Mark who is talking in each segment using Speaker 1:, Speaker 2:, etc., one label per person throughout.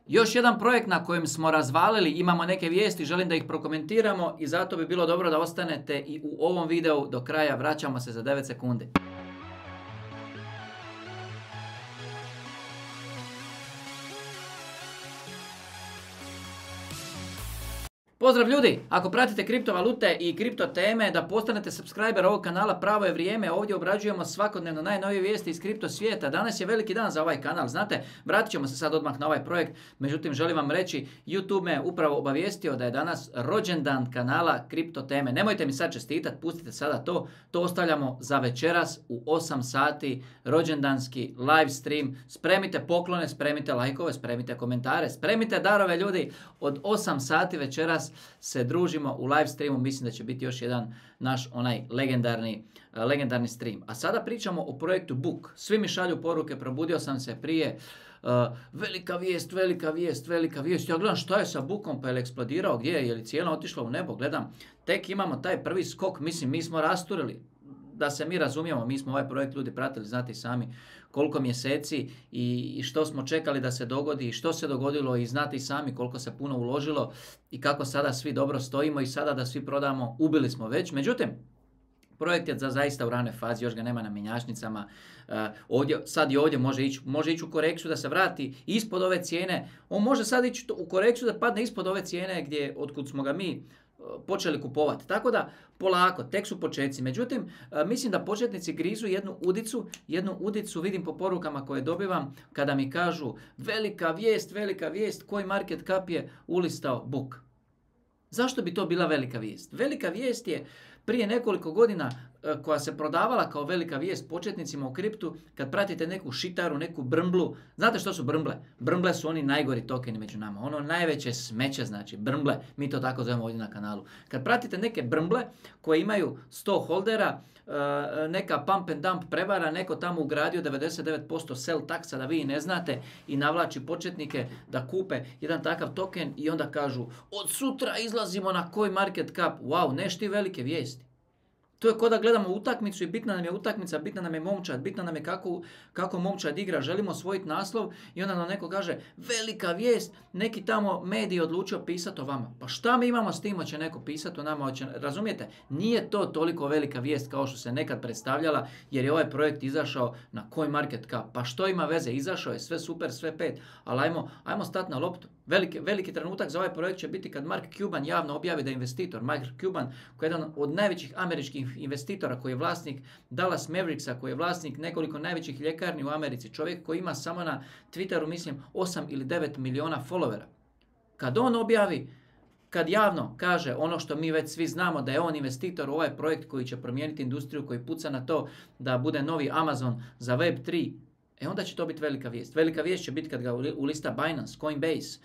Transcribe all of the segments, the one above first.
Speaker 1: Još jedan projekt na kojem smo razvalili, imamo neke vijesti, želim da ih prokomentiramo i zato bi bilo dobro da ostanete i u ovom videu do kraja. Vraćamo se za 9 sekundi. Pozdrav ljudi, ako pratite kriptovalute i kripto teme, da postanete subscriber ovog kanala, pravo je vrijeme. Ovdje obrađujemo svakodnevno najnovije vijesti iz kripto svijeta. Danas je veliki dan za ovaj kanal, znate, vratit ćemo se sad odmah na ovaj projekt. Međutim, želim vam reći, YouTube me upravo obavijestio da je danas rođendan kanala kripto teme. Nemojte mi sad čestitati, pustite sada to ostavljamo za večeras u 8 sati, rođendanski live stream. Spremite poklone, spremite lajkove, spremite komentare, spremite darove ljudi. Od 8 sati večeras se družimo u live streamu, mislim da će biti još jedan naš onaj legendarni stream. A sada pričamo o projektu Book. Svi mi šalju poruke, probudio sam se prije, velika vijest. Ja gledam šta je sa Bookom, pa je li eksplodirao, gdje je li cijena otišla u nebo, gledam. Tek imamo taj prvi skok, mislim mi smo rasturili. Da se mi razumijemo, mi smo ovaj projekt ljudi pratili, znate i sami koliko mjeseci i što smo čekali da se dogodi i što se dogodilo i znate i sami koliko se puno uložilo i kako sada svi dobro stojimo i sada da svi prodamo, ubili smo već. Međutim, projekt je zaista u ranoj fazi, još ga nema na mjenjačnicama. Sad i ovdje može ići u korekciju da se vrati ispod ove cijene. On može sad ići u korekciju da padne ispod ove cijene otkud smo ga mi počeli kupovati. Tako da polako, tek su početci. Međutim, mislim da početnici grizu jednu udicu vidim po porukama koje dobivam kada mi kažu velika vijest, koji market cap je ulistao Book. Zašto bi to bila velika vijest? Velika vijest je prije nekoliko godina koja se prodavala kao velika vijest početnicima u kriptu, kad pratite neku šitaru, neku brmblu. Znate što su brmble? Brmble su oni najgori tokeni među nama. Ono najveće smeće znači, brmble. Mi to tako zovemo ovdje na kanalu. Kad pratite neke brmble koje imaju 100 holdera, neka pump and dump prevara, neko tamo ugradio 99% sell taksa da vi ne znate i navlači početnike da kupe jedan takav token i onda kažu od sutra izlazimo na CoinMarketCap. Wow, neš ti velike vijesti. To je kao da gledamo utakmicu i bitna nam je utakmica, bitna nam je momčad, bitna nam je kako momčad igra, želimo osvojiti naslov i onda nam neko kaže velika vijest, neki tamo medij odlučio pisati o vama. Pa šta mi imamo s tim, hoće neko pisati o nama, razumijete? Nije to toliko velika vijest kao što se nekad predstavljala jer je ovaj projekt izašao na CoinMarketCap. Pa što ima veze, izašao je, sve super, sve pet, ali ajmo stati na loptu. Veliki trenutak za ovaj projekt će biti kad Mark Cuban javno objavi da je investitor. Mark Cuban, koji je jedan od najvećih američkih investitora, koji je vlasnik Dallas Mavericksa, koji je vlasnik nekoliko najvećih ljekarni u Americi, čovjek koji ima samo na Twitteru, mislim, 8 ili 9 miliona followera. Kad on objavi, kad javno kaže ono što mi već svi znamo da je on investitor u ovaj projekt koji će promijeniti industriju, koji puca na to da bude novi Amazon za Web3, onda će to biti velika vijest. Velika vijest će biti kad ga ulista Binance, Coinbase,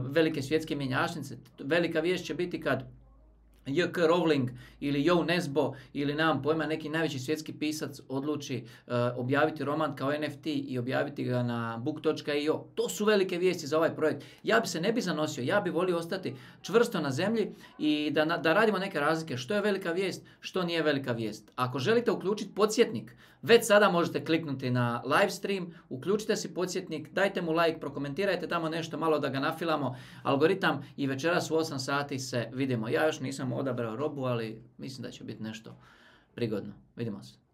Speaker 1: velike svjetske mjenjačnice. Velika vijest će biti kad J.K. Rowling ili Joe Nesbo ili nemam pojma neki najveći svjetski pisac odluči objaviti roman kao NFT i objaviti ga na book.io. To su velike vijesti za ovaj projekt. Ja bi se ne bi zanosio, ja bi volio ostati čvrsto na zemlji i da radimo neke razlike što je velika vijest, što nije velika vijest. Ako želite uključiti podsjetnik, već sada možete kliknuti na live stream, uključite si podsjetnik, dajte mu like, prokomentirajte tamo nešto malo da ga nafilamo, algoritam i večeras u 8 sati se vidimo. Ja još nisam odabrao robu, ali mislim da će biti nešto prigodno. Vidimo se.